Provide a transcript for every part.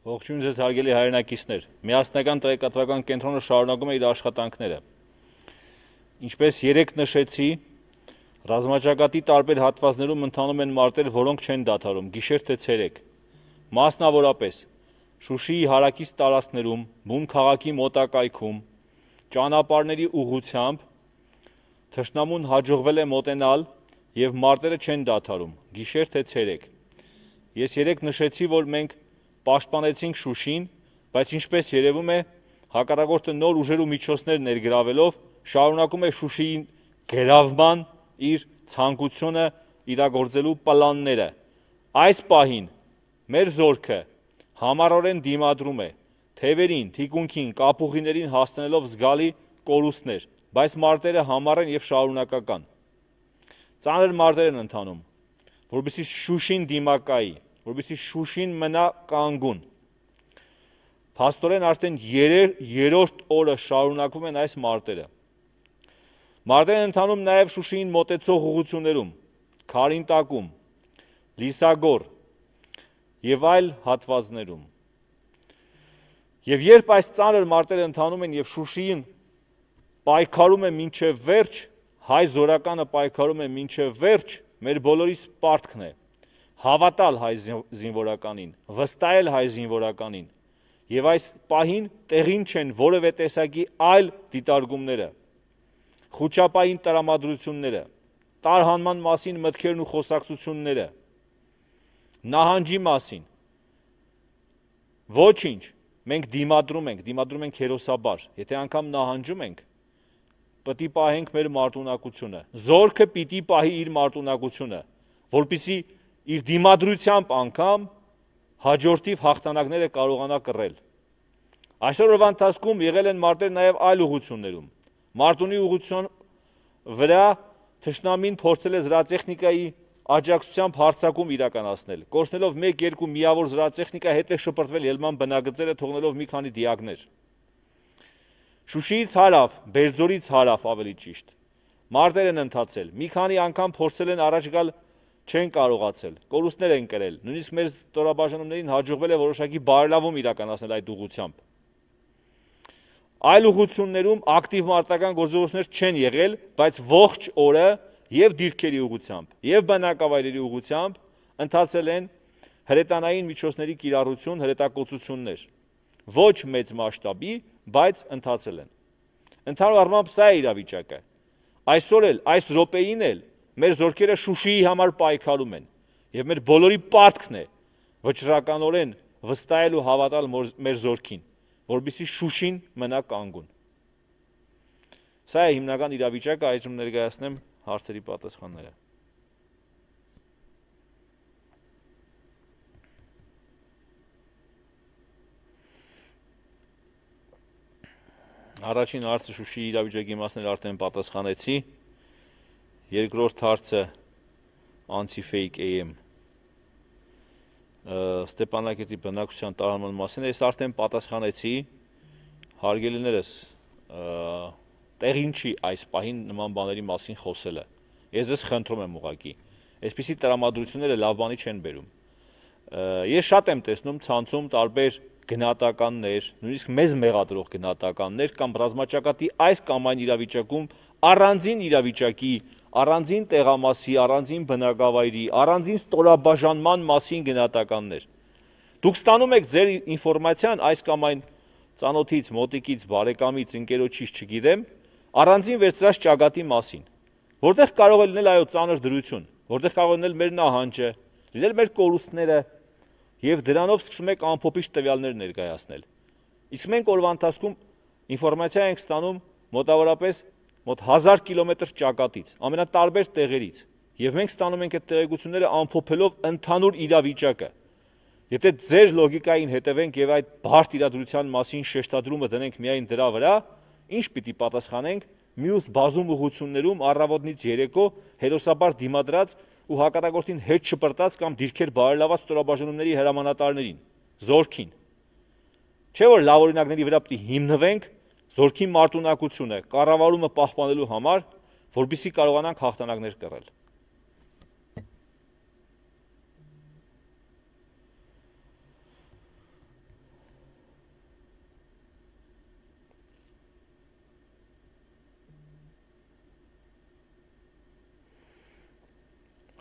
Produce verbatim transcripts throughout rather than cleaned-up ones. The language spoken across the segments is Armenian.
Ողջույն ձեզ հարգելի հայրենակիցներ, միասնական տեղեկատվական կենտրոնը շարունակում է իր աշխատանքները։ Ինչպես երեկ նշեցի, ռազմաճակատի տարբեր հատվածներում ընթանում են մարտեր, որոնք չեն դադարում, գիշեր թե ցերեկ։ Մասնավորապես Շուշիի հարակից տարածքներում, բուն քաղաքի մոտակայքում, ճանապարհների ուղղությամբ թշնամուն հաջողվել է մոտենալ եւ մարտերը չեն դադարում, գիշեր թե ցերեկ։ Ես երեկ նշեցի, որ մենք պաշտպանեցինք Շուշին, բայց ինչպես երևում է, հակառակորդը նոր ուժեր ու միջոցներ ներգրավելով շարունակում է Շուշիի գրավման իր ցանկությունը իրագործելու պլանները։ Այս պահին մեր զորքը համառորեն դիմադրում է թևերին, թիկունքին, կապուղիներին հասցնելով զգալի կորուստներ, բայց մարտերը համառ են եւ շարունակական։ Ծանր մարտեր են ընթանում, որովհետեւ Շուշին դիմակայի, որովհետեւ Շուշին մնա կանգուն։ Փաստորեն արդեն երրորդ օրը շարունակվում են այս մարտերը։ Մարտեր են ընթանում նաեւ Շուշիին մոտեցող ուղղություններում, Քարինտակում, Լիսագոր եւ այլ հատվածներում։ Եվ երբ այս ծանր մարտերը ընթանում են եւ Շուշիին պայքարում է մինչև վերջ, հայ զորականը պայքարում է մինչև վերջ, մեր բոլորիս պարտքն է հավատալ հայ զինվորականին, վստահել հայ զինվորականին եւ այս պահին տեղին չեն որևէ տեսակի այլ դիտարկումները, խոչապային տրամադրությունները, տարհանման մասին մտքերն ու խոսակցությունները, նահանջի մասին։ Ոչինչ, մենք դիմադրում ենք, դիմադրում ենք հերոսաբար, եթե անգամ նահանջում ենք, պիտի պահենք մեր մարտունակությունը, զորքը պիտի պահի իր մարտունակությունը, որպեսզի իր դիմադրությամբ անգամ հաջորդիվ հաղթանակները կարողանա կռել։ Այսօրվա ընթացքում եղել են մարտեր նաև այլ ուղղություններում։ Մարտունի ուղղության վրա թշնամին փորձել է զրահտեխնիկայի աջակցությամբ հարձակում իրականացնել, կորցնելով մեկ-երկու միավոր զրահտեխնիկա, հետ է շպրտվել ելման բնակաձերը, թողնելով մի քանի դիակներ։ Շուշիից հարավ, Բերձորից հարավ ավելի ճիշտ, մարտեր են ընթացել, մի քանի անգամ փորձել են առաջ գալ, չեն կարողացել, կորուստներ են կրել, նույնիսկ մեր ստորաբաժանումներին հաջողվել է որոշակի բարելավում իրականացնել այդ ուղղությամբ։ Այլ ուղղություններում ակտիվ մարտական գործողություններ չեն եղել, բայց ողջ օրը եւ դիրքերի ուղղությամբ, եւ բնակավայրերի ուղղությամբ ընթացել են հրետանային միջոցների կիրառություն, հրետակոծություններ, ոչ մեծ մասշտաբի, բայց ընթացել են։ Ընդհանուր առմամբ սա է իրավիճակը։ Այսօր էլ, այս րոպեին էլ մեր զորքերը Շուշիի համար պայքարում են եւ մեր բոլորի պարտքն է վճռականորեն վստահել ու հավատալ մեր զորքին, որպեսզի Շուշին մնա կանգուն։ Սա է հիմնական իրավիճակը, այժմ ներկայացնեմ հարցերի պատասխանները։ Առաջին հարցը Շուշիի իրավիճակի մասն արդեն պատասխանեցի։ Երկրորդ հարցը anti-fake A M Ստեփանակերտի բնակչության տարանման մասին ես արդեն պատասխանեցի, հարգելիներս, տեղին չի այս պահին նման բաների մասին խոսելը։ Ես ձեզ խնդրում եմ ուղղակի, այսպիսի տրամադրությունները լավ բանի չեն բերում։ Ես շատ եմ տեսնում ցանցում տարբեր գնահատականներ, նույնիսկ մեզ մեղադրող գնահատականներ կամ ռազմաճակատի այս կամ այն իրավիճակում առանձին իրավիճակի, առանձին տեղամասի, առանձին բնակավայրի, առանձին ստորաբաժանման մասին գնահատականներ։ Դուք ստանում եք ձեր ինֆորմացիան այս կամ այն ծանոթից, մոտիկից, բարեկամից, ընկերոջից, չգիտեմ, առանձին վերծրած ճակատի մասին, որտեղ կարող է լինել այո ծանր դրություն, որտեղ կարող է լինել մեր նահանջը, լինել մեր կորուստները, եւ դրանով սկսում եք ամփոփիչ տվյալներ ներկայացնել։ Իսկ մենք օրվա ընթացքում ինֆորմացիա ենք ստանում մոտավորապես մոտ հազար կիլոմետր ճակատից, ամենատարբեր տեղերից, եւ մենք ստանում ենք այդ տեղեկությունները ամփոփելով ընդհանուր իրավիճակը։ Եթե ձեր լոգիկային հետևենք եւ այդ բարդ իրադրության մասին շեշտադրումը դնենք միայն դրա վրա, ինչ պիտի պատասխանենք մյուս բազում ուղղություններում առավոտից երեկո հերոսաբար դիմադրած ու հակառակորդին հետ շպրտած կամ դիրքեր բարելաված ստորաբաժանումների հրամանատարներին, զորքին։ Չէ՞ որ լավ օրինակների վրա պիտի հիմնվենք զորքի մարտունակությունը, կառավարումը պահպանելու համար, որպեսզի կարողանանք հաղթանակներ կռել։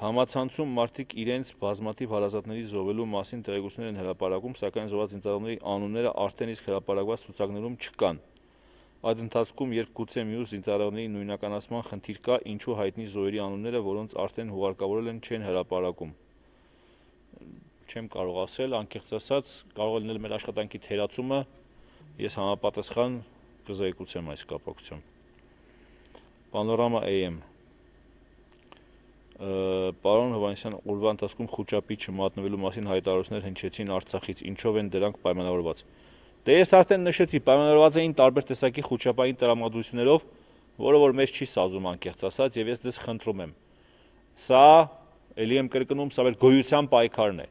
Համացանցում մարդիկ իրենց բազմաթիվ հարազատների զոհվելու մասին տեղեկություններ են հրապարակում, սակայն զոհված զինծառայողների անունները արդեն իսկ հրապարակված ցուցակներում չկան։ Այդ ընթացքում, երբ գուցե մյուս զինծառայողների նույնականացման խնդիր կա, ինչու հայտնի զոհերի անունները, որոնց արդեն հուղարկավորել են, չեն հրապարակում։ Չեմ կարող ասել, անկեղծ ասած, կարող է լինել մեր աշխատանքի թերացումը, ես համապատասխան կզեկուցեմ այս կապակցությամբ։ Պանորամա A M Պարոն Հովհաննիսյան, օրվա ընթացքում խուճապի չմատնվելու մասին հայտարարություններ հնչեցին Արցախից, ինչով են դրանք պայմանավորված։ Դե ես արդեն նշեցի, պայմանավորված էին տարբեր տեսակի խուճապային տրամադրություններով, որը որ մեզ չի սազում անկեղծ ասած, եւ ես ձեզ խնդրում եմ։ Սա, ելի եմ կրկնում, սա մեր գոյության պայքարն է։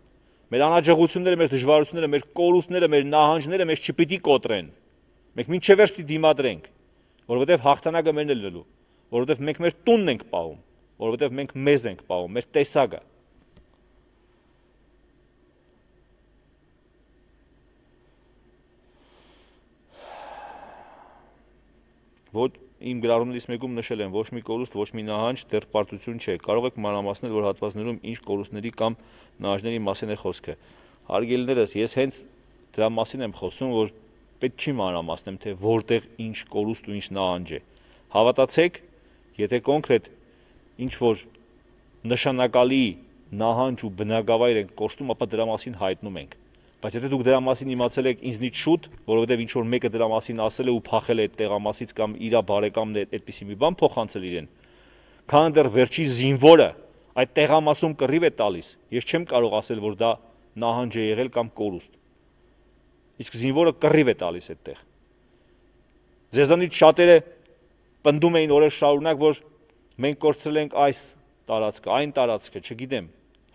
Մեր անհաջողությունները, մեր դժվարությունները, մեր կորուստները, մեր նահանջները մեզ չպիտի կոտրեն։ Մենք մինչև վերջ պիտի դիմադրենք, որովհետև հաղթանակը մերն է լինելու, որովհետև մենք մեր տունն ենք պահում, որովհետև մենք մեզ ենք պահում, մեր տեսակը։ Ոչ իմ գրառումներից մեկում նշել եմ, ոչ մի կորուստ, ոչ մի նահանջ դեռ պարտություն չէ։ Կարող եք մանրամասնել, որ հատվածներում ինչ կորուստների կամ նահանջների մասին է խոսքը։ Հարգելիներս, ես հենց դրա մասին եմ խոսում, որ պետք չի մանրամասնեմ, թե որտեղ ինչ կորուստ ու ինչ նահանջ է։ Հավատացեք, եթե կոնկրետ ինչ որ նշանակալի նահանջ ու բնակավայր ենք կորստում, ապա դրա մասին հայտնում ենք։ Բայց եթե դուք դրա մասին իմացել եք ինձնից շուտ, որովհետև ինչ որ մեկը դրա մասին ասել է ու փախել է այդ տեղամասից կամ իր բարեկամն է այդպիսի մի բան փոխանցել իրեն, քան դեռ վերջի զինվորը այդ տեղամասում կռիվ է տալիս, ես չեմ կարող ասել, որ դա նահանջ է եղել կամ կորուստ։ Իսկ զինվորը կռիվ է տալիս այդտեղ։ Ձեզանից շատերը պնդում էին օրեր շարունակ, որ մենք կորցրել ենք այս տարածքը, այն տարածքը, չգիտեմ,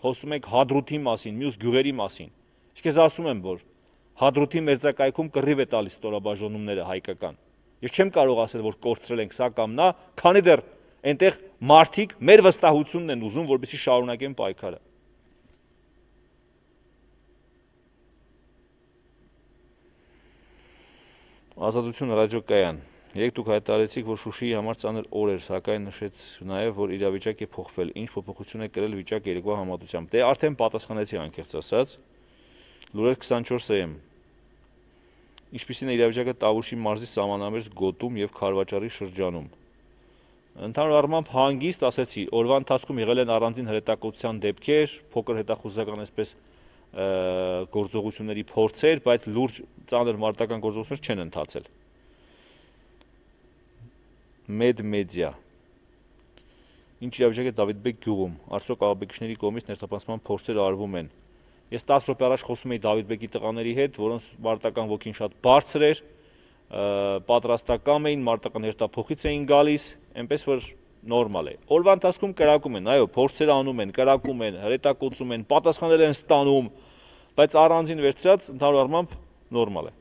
խոսում ենք Հադրութի մասին, մյուս գյուղերի մասին։ Իսկ ես ասում եմ, որ Հադրութի մերձակայքում կռիվ է տալիս ստորաբաժանումները հայկական։ Ես չեմ կարող ասել, որ կորցրել ենք սա կամ նա, քանի դեռ այնտեղ մարդիկ մեր վստահությունն են ուզում, որպեսզի շարունակեն պայքարը։ Ազատություն ռադիոկայան։ Երեք դուք հայտարարեցիք, որ Շուշիի համար ծանր օր էր, սակայն նշեց նաև, որ իրավիճակ է փոխվել, ինչ փոփոխություն է կրել վիճակը երեկվա համատությամբ։ Դե արդեն պատասխանեցի անկեղծ ասած։ Լուրեր քսանչորս A M Ինչպիսին է իրավիճակը Տավուշի մարզի սահմանամերձ գոտում եւ Քարվաճարի շրջանում։ Ընդհանուր առմամբ հանգիստ ասեցի, օրվա ընթացքում եղել են առանձին հրետակոծության դեպքեր, փոքր հետախուզական այսպես գործողությունների փորձեր, բայց լուրջ ծանր մարտական գործողություններ չեն ընթացել։ Մեդ մեդիա Ինչ իրավիճակ է Դավիթբեկ գյուղում, արդյոք աղաբեկիչների կողմից ներթափանցման փորձեր արվում են։ Ես տասը րոպե առաջ խոսում էի Դավիթբեկի տղաների հետ, որոնց մարտական ոգին շատ բարձր էր, պատրաստակամ էին, մարտական հերթափոխից էին գալիս, այնպես որ նորմալ է։ Օրվա ընթացքում կրակում են, այո, փորձեր անում են, կրակում են, հրետակոծում են, պատասխաններ են ստանում, բայց առանձին վերցրած ընդհանուր առմամբ նորմալ է։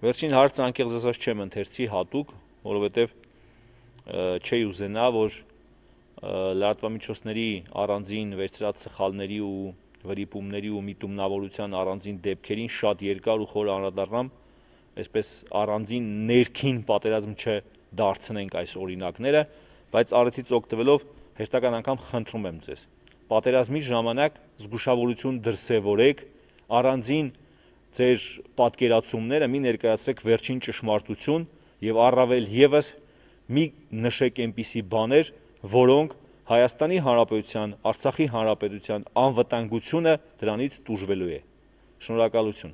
Վերջին հարցը անկեղծ ասած չեմ ընթերցի հատուկ, որովհետև չի ուզենա, որ լրատվամիջոցների առանձին վերցրած սխալների ու վրիպումների ու միտումնավորության առանձին դեպքերին շատ երկար ու խոր անդրադառնամ, այսպես առանձին ներքին պատերազմ չդարձնենք այս օրինակները, բայց առիթից օգտվելով հերթական անգամ խնդրում եմ ձեզ, պատերազմի ժամանակ զգուշավորություն դրսևորեք, առանձին ձեր պատկերացումները մի ներկայացրեք վերջին ճշմարտություն եւ առավել եւս մի նշեք այնպիսի բաներ, որոնք Հայաստանի Հանրապետության, Արցախի Հանրապետության անվտանգությունը դրանից տուժվելու է։ Շնորհակալություն։